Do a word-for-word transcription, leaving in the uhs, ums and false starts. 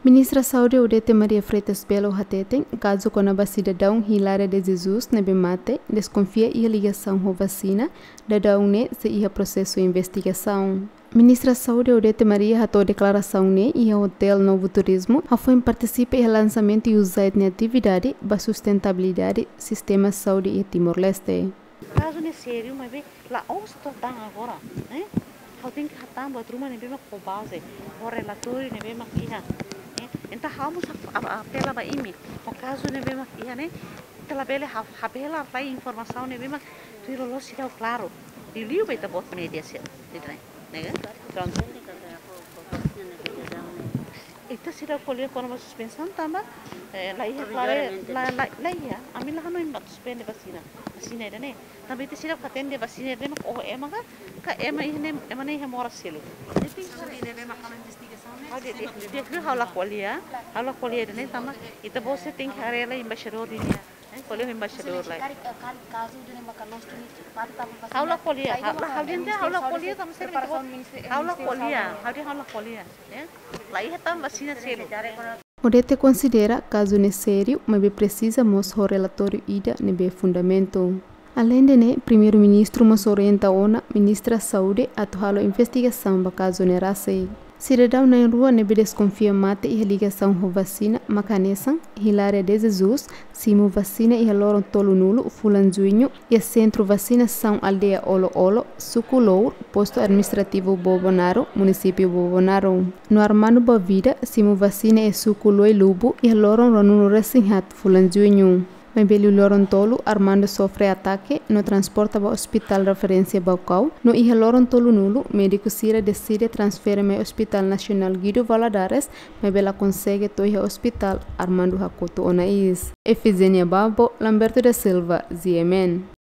Ministra Saúde Odete Maria Freitas Belo hateten, kazu kona-ba sidadaun Hilária de Jesus ne'ebé mate, deskonfia iha ligasaun ho vasina, daudaun ne'e sei iha prosesu investigasaun. Ministra Saúde Odete Maria hato'o deklarasaun ne'e iha Hotel Novo Turismo, hafoin partisipa iha lansamentu USAID nia atividade ba sustentabilidade sistema saúde iha Timor-Leste. Kazu ne'e sériu, maibé la'ós to'o tan agora, eh? Ha'u tenke hatán buat ruma ne'ebé mak ho baze, ho relatóriu ne'ebé mak iha, eh? Entaun ha'u mós ap-, ap-, apela ba imi, ho kazu ne'ebé mak iha ne'e, ita labele ha-, habelar lai informasaun ne'ebé mak tuir loloos seidauk klaru. Liuliu ba ita-boot média sira, ida-ne'e, ne'e kan? Prontu. Ita seidauk ko'alia kona-ba suspensaun tanba, eh, la iha klare, la, la, la iha. Ami la hanoin mak suspende vasina. Vasina ida-ne'e. Tanba ita seidauk hatene de'it vasina ida-ne'e mak oho ema ka, ka ema iha ne'e, ema ne'e iha moras seluk. Ha'u dehan, dehan, dehan, ha'u la ko'alia, ha'u la ko'alia ida-ne'e tanba ita-boot sira tenke haree lai embaixadór ida-ne'e. Eh, ko'alia ho embaixadór lai. Ha'u la ko'alia, ha'u, ha'u dehan, ha'u la ko'alia tanba sira mak ita-boot, ha'u la ko'alia, ha'u dehan ha'u la ko'alia, eh? La iha tan vasina seluk. Odete konsidera kazu ne'e sériu, maibé presiza mós ho relatóriu ida ne'ebé fundamentu. Aleinde ne'e, Primeiru-Ministru mós orienta ona Ministra Saúde atu halo investigasaun ba kazu ne'e rasik. Sidadaun na'in-rua ne'ebé deskonfia mate iha ligasaun ho vasina mak hanesan Hilária de Jesus, simu vasina iha loron tolunulu fulan Juñu, iha sentru vasinasaun aldeia Olo-Olo, suku Lour, postu administrativu Bobonaro, munisípiu Bobonaro. No Armando Boavida, simu vasina iha suku Luai-Lubu, iha loron ruanulu-resin-haat fulan Juñu. Maibé liu loron tolu, Armando sofre atake, no transporta ba Ospitál Referénsia Baucau, no iha loron tolunulu, médiku sira deside transfere mai Ospitál Nasionál Guido Valadares, maibé la konsege to'o iha ospitál, Armando hakotu ona iis. Efigénia Babo, Lamberto da Silva, G M N.